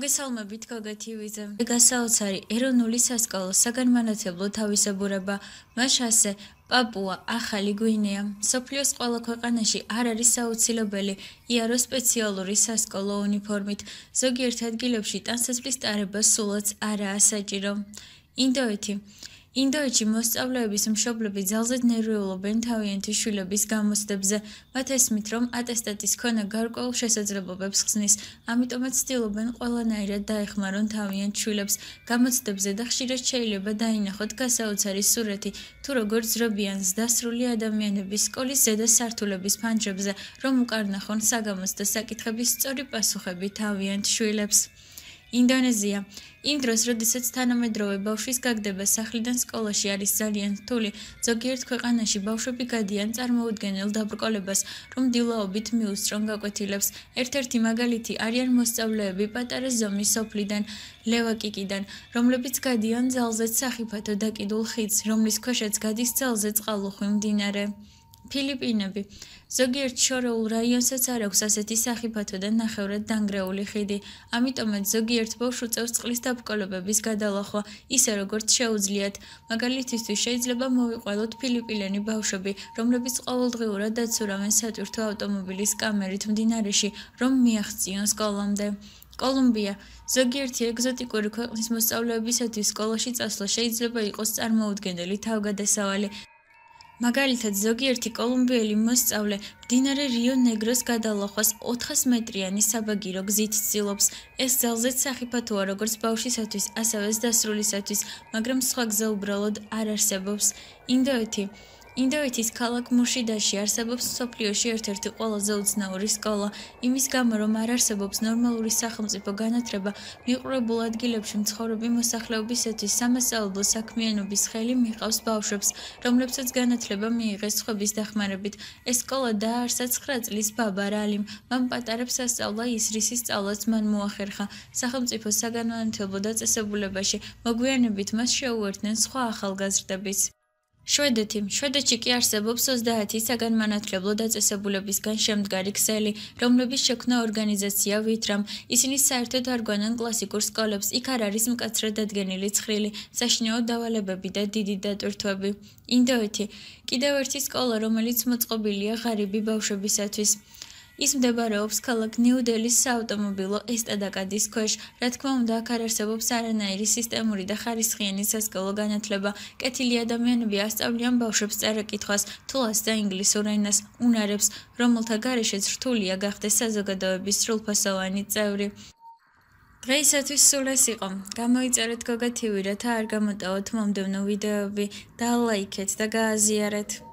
მოგესალმებით გოგეთივიზე. გასაოცარი ეროვნული სასკოლო საგანმანათლებლო თავისებურება, მას ასე პაპუა ახალი გვინეა. სოფლიოს ყველა ქვეყანაში არ არის საუცილებელი იარო სპეციალური სასკოლო უნიფორმით. ზოგიერთ ადგილებში ტანსაცმლის ტარება სულაც არაა საჭირო. ინდოეთში მოსწავლეების მშობლები ძალზედ ნერვიულობენ თავიანთი შვილების გამოცდებზე. მათ ესმით, რომ ატესტატის ქონა გარკვეულ შესაძლებლობებს ხსნის, ამიტომაც ცდილობენ ყველანაირად დაეხმარონ თავიანთ შვილებს გამოცდებზე და ხშირად შეიძლება დაინახოთ გასაოცარი სურათი, თუ როგორ ძრობიან ზრდასრული ადამიანების სკოლის ზედა სართულების ფანჯრებზე, რომ უკარნახონ საგამოცდო საკითხების სწორი პასუხები თავიანთ შვილებს. ინდონეზია. იმ დროს, როდესაც თანამედროვე ბავშვის გაგდება სახლიდან სკოლაში არის ძალიან რთული, ზოგიერთ ქვეყანაში ბავშვები გადიან წარმოუდგენელ დაბრკოლებას, რომ დილაობით მიუსწრონ გაკვეთილებს. ერთ-ერთი მაგალითი არიან მოსწავლეები პატარა ზომის სოფლიდან, ლევაკიკიდან, რომლებიც გადიან ძალზედ სახიფათო დაკიდულ ხიდს, რომლის ქვეშაც გადის ძალზედ წყალუხვი მდინარე. ფილიპინები. ზოგიერთ შორეულ რაიონსაც არ აქვს ასეთი სახიფათო და ნახევრად დანგრეული ხიდი, ამიტომაც ზოგიერთ ბავშვს უწევს წყლის დაბრკოლებების გადალახვა, ისე როგორც შეუძლიათ. მაგალითისთვის შეიძლება მოვიყვანოთ ფილიპინელი ბავშვები, რომლებიც ყოველდღიურად აცურავენ სატვირთო ავტომობილის კამერით მდინარეში, რომ მიაღწიონ სკოლამდე. კოლუმბია. ზოგიერთი ეგზოტიკური ქვეყნის მოსწავლეებისათვის სკოლაში წასვლა შეიძლება იყოს წარმოუდგენელი თავგადასავალი. მაგალითად, ზოგიერთი კოლუმბიელი მოსწავლე მდინარე რიო ნეგროს გადალახვას 400 მეტრიანი საბაგირო გზით ცდილობს. ეს ძალზედ სახიფათოა როგორც ბავშვისათვის, ასევე ზრდასრულისათვის, მაგრამ სხვა გზა უბრალოდ არ არსებობს. ინდოეთის ქალაქ მურშიდაში არსებობს მსოფლიოში ერთ-ერთი ყველაზე უცნაური სკოლა. იმის გამო, რომ არ არსებობს ნორმალური სახელმწიფო განათლება, მიყრუებულ ადგილებში მცხოვრები მოსახლეობისათვის სამასწავლებლო საქმიანობის ხელი მიჰყავს ბავშვებს, რომლებსაც განათლება მიიღეს სხვების დახმარებით. ეს სკოლა დააარსა 9 წლის ბაბა რალიმ. მან პატარებს ასწავლა ისრისის სწავლაც მან მოახერხა. სახელმწიფო საგანმანათლებლო დაწესებულებაში მოგვიანებით მას შეუერთდნენ სხვა ახალგაზრდებიც. შვედეთში კი არსებობს 30 საგანმანათლებლო დაწესებულებისგან შემდგარი ქსელი, რომლების შექმნა ორგანიზაცია ვითრამ. ისინი საერთოდ არ გვანან კლასიკურ სკოლებს, იქ არ არის მკაცრად დადგენილი ცხრილი, საშინაო დავალებები და დიდი დატვირთვები. ინდოეთი. კიდევ ერთი სკოლა, რომელიც მოწყობილია ღარიბი ბავშვებისათვის. ის მდებარეობს ქალაქ ნიუ-დელის საავტომობილო ესტადაკადის ქვეშ. რა თქმა უნდა, აქ არ არსებობს არანაირი სისტემური და ხარისხიანი სასკოლო განათლება. კეთილი ადამიანები ასწავლიან ბავშვებს წერა-კითხვას, თულას და ინგლისურ ენას, უნარებს, რომელთა გარეშეც რთულია გახდეს საზოგადოების სრულფასოვანი წევრი. დღეისათვის სულ ეს იყო. გამოიწერეთ გოგათივი, რათა არ გამოტოვოთ მომდევნო ვიდეოები და ლაიქეთ და გააზიარეთ.